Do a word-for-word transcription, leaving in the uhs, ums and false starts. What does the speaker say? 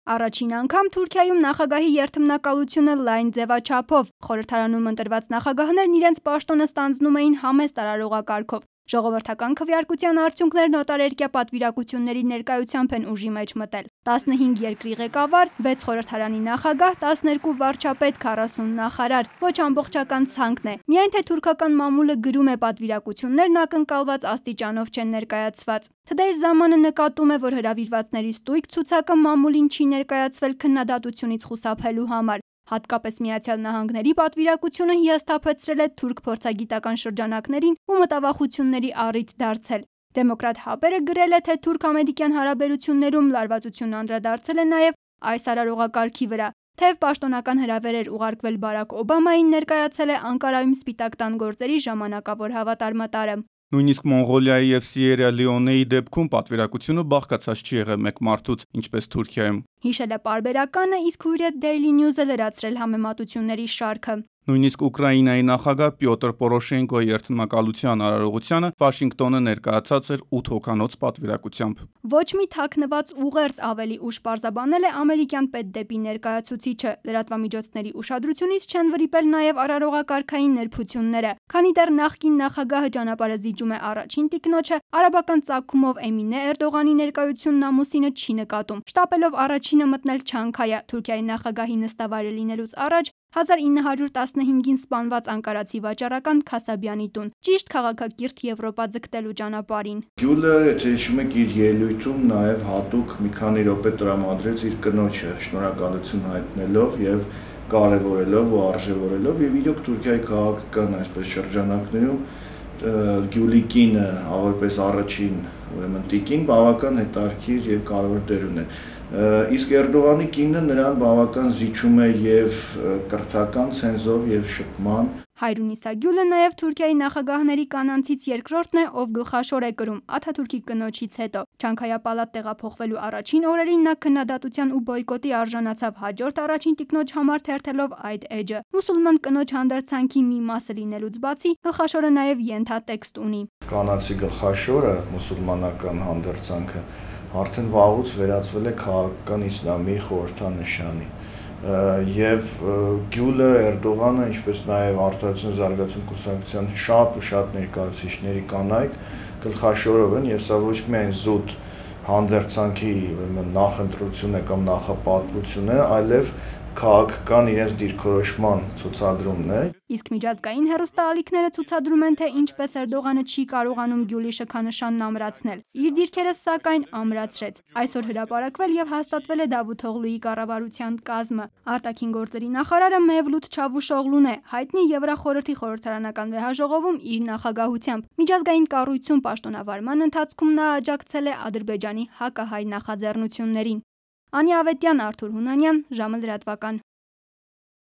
Առաջին անգամ Թուրքիայում նախագահի երթմնակալությունը լայն ձևաչափով։ Խորհրդարանում ընտրված նախագահներն իրենց պաշտոնը ստանձնում էին համեստ արարողակարգով։ Ժողովրդական քվեարկության արդյունքներն օտարերկրյա պատվիրակությունների ներկայությամբ են ուժի մեջ մտել։ տասնհինգ երկրի ղեկավար, վեց խորհրդարանի նախագահ, տասներկու վարչապետ, քառասուն նախարար։ Ոչ ամբողջական ցանկն է։ Միայն թե թուրքական մամուլը գրում է պատվիրակություններն ակնկալված աստիճանով չեն ներկայացված։ Today ժամանը նկատում է, որ հրավիրվածների ստույգ ցուցակը մամուլին չի ներկայացվել քննադատությունից խուսափելու համար։ Հատկապես Միացյալ Նահանգների պատվիրակությունը հիասթափեցրել է թուրք փորձագիտական շրջանակներին ու մտավախությունների առիթ դարձել։ Դեմոկրատ հապերը գրել է, թե թուրք-ամերիկյան հարաբերություններում լարվածություն անդրադարձել է նաև այս արարողակարգի վրա։ Թեև պաշտոնական հրավեր էր ուղարկվել Բարաք Օբամային, ներկայացել է Անկարայում Սպիտակ տան գործերի ժամանակավոր հավատարմատարը։ Նույնիսկ Մոնղոլիայի եւ Սիերա Լեոնեի դեպքում պատվիրակությունը բաղկացած չի եղել մեկ մարդուց, ինչպես Թուրքիայում։ Հիշել է պարբերականը, իսկ Hürriyet Daily News-ը լրացրել համեմատությունների շարքը։ Նույնիսկ Ուկրաինայի նախագահ Պյոտր Պորոշենկոյի երթմնակալության արարողությանը Վաշինգտոնը ներկայացած էր ութ հոգանոց պատվիրակությամբ։ Ոչ մի թաքնված ուղերձ ավելի ուշ պարզաբանել է ամերիկյան պետդեպի ներկայացուցիչը։ Լրատվամիջոցների ուշադրությունից չեն վրիպել նաև արարողակարգային նրբությունները։ Քանի դեռ նախկին նախագահը ճանապարհը զիջում է առաջին տիկնոջը, արաբական ծագումով Էմինե Էրդողանի ներկայությունն ամուսինը չի նկատում։ Շտապելով առաջինը մտնել Չանքայա, Թուրքիայի նախագահի նստավայրը լինելուց առաջ հազար ինը հարյուր տասնհինգին սպանված անկարացի վաճառական Քասաբյանի տուն, ճիշտ քաղաքակիրթ Եվրոպա ձգտելու ճանապարհին։ Գյուլը, եթե հիշում եք, իր ելույթում նաև հատուկ մի քանի րոպե տրամադրեց իր կնոջը շնորհակալություն հայտնելով եւ կարևորելով ու արժևորելով, եւ իրոք Թուրքիայի քաղաքական այսպես շրջանակներում Գյուլի կինը որպես առաջին ուրեմն տիկին բավական հետաքրքիր եւ կարևոր դեր ուներ։ Իսկ Էրդողանի կինը նրան բավական զիջում է եւ կրթական ցենզով եւ շփման։ Հայրունիսա Գյուլը նաև Թուրքիայի նախագահների կանանցից երկրորդն է, ով գլխաշոր է կրում Աթաթուրքի կնոջից հետո։ Չանքայա պալատ տեղափոխվելու առաջին օրերին նա քննադատության ու բոյկոտի արժանացավ հաջորդ առաջին տիկնոջ համար թերթելով այդ էջը։ Մուսուլման կնոջ հանդերձանքի մի մասը լինելուց բացի, գլխաշորը նաև ենթատեքստ ունի։ Կանանցի գլխաշորը մուսուլմանական հանդերձանքը արդեն վաղուց վերածվել է քաղաքական իսլամի խորհրդանշանի։ Եվ Գյուլը, Էրդողանը, ինչպես նաև Արդարություն զարգացում կուսակցության շատ ու շատ ներկայացուցիչների կանայք գլխաշորով են, եւ սա ոչ միայն զուտ հանդերձանքի նախընտրություն է կամ նախապատվություն է, այլև քաղաքական իրենց դիրքորոշման ցուցադրումն է։ Իսկ միջազգային հեռուստաալիքները ցուցադրում են, թե ինչպես Էրդողանը չի կարողանում Գյուլի շքանշանն ամրացնել։ Իր դիրքերը սակայն ամրացրեց։ Այսօր հրապարակվել եւ հաստատվել է Դավութօղլուի կառավարության կազմը։ Արտաքին գործերի նախարարը Մևլութ Չավուշօղլուն է, հայտնի Եվրախորհրդի խորհրդարանական վեհաժողովում իր նախագահությամբ։ Միջազգային կառույցում պաշտոնավարման ընթացքում նա աջակցել է Ադրբեջանի հակահայ նախաձեռնություններին։ Անի Ավետյան, Արթուր Հունանյան, ժամը լրատվական։